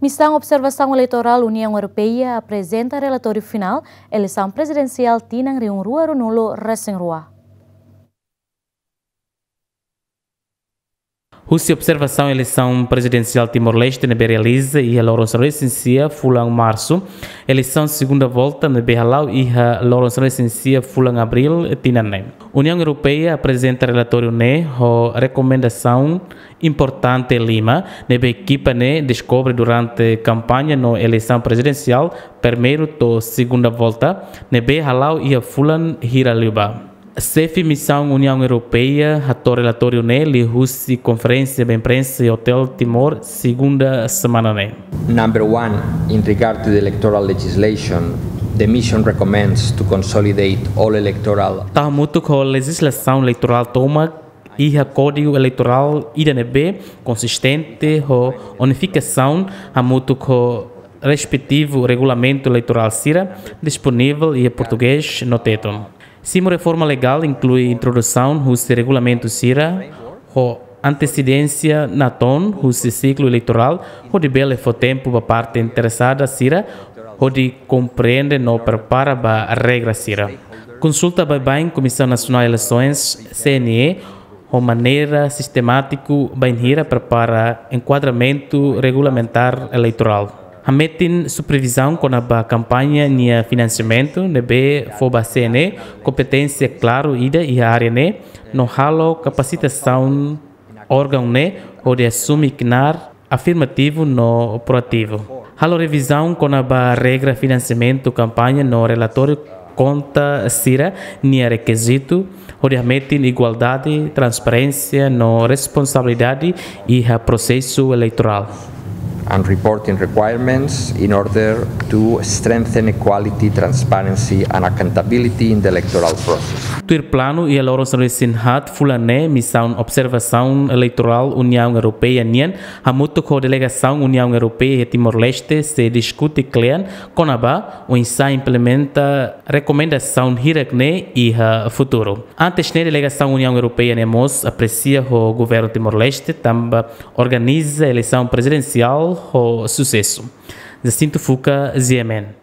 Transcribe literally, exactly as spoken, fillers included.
Misaun Observasaun Eleitorál Uniaun Europeia aprezenta relatóriu finál eleisaun prezidensiál tinan rihun rua ruanulu resin rua. Husi observasaun eleisaun prezidensiál Timor-Leste ne'ebé realiza iha loron sanulu-resin-sia fulan Marsu, eleisaun segunda volta ne'ebé hala'o iha loron sanulu-resin-sia fulan Abríl tinan ne'e. Uniaun Europeia aprezenta relatóriu ne'e ho rekomendasaun importante lima ne'ebé ekipa ne'e deskobre durante kampaña no eleisaun prezidensiál primeiru to'o segunda volta ne'ebé hala'o iha fulan hira liubá. Xefe misaun Uniaun Europeia hato'o relatóriu ne'e liuhusi konferénsia ba imprensa iha Hotel Timor, segunda semana ne'e. Number one, in regard to the electoral legislation, the mission recommends to consolidate all electoral. Tau hamutuk ho lejizlasaun eleitorál tomak, iha kódigu eleitorál ida ne'ebé konsistente ho unifikasaun hamutuk ho respetivu regulamentu eleitorál sira disponivel iha portugés no tetun. Simu reforma legál inklui introdusaun husi regulamentu sira ho antesedénsia natoon husi siklu eleitorál, hodi bele fó tempu ba parte interesada sira hodi komprende no prepara ba regra sira. Konsulta baibain Komisaun Nasionál Eleisoens, C N E, ho maneira sistemátiku bainhira prepara enkuadramentu regulamentár eleitorál. Hametin supervizaun kona-ba kampaña nia finansiamentu ne'ebé fó ba C N E kompeténsia klaru ida iha área ne'e, no halo kapasitasaun órgaun ne'e hodi asume knaar afirmativu no proativu. Halo revizaun kona-ba regra finansiamentu kampaña no relatóriu konta sira-nia rekizitu, hodi hametin igualdade, transparénsia no responsabilidade iha prosesu eleitorál. And reporting requirements in order to strengthen equality, transparency and accountability in the electoral process. Tuir planu, iha loron sanulu-resin-haat fulan ne'e, misaun observasaun eleitorál Uniaun Europeia nian hamutuk ho delegasaun Uniaun Europeia iha Timor-Leste sei diskute klean kona-ba oinsá implementa rekomendasaun hirak ne'e iha futuru. Antes ne'e, delegasaun Uniaun Europeia ne'e mós apresia ho governu Timor-Leste tanba organiza eleisaun prezidensiál ho susesu. Jacinto Fuca, G M N.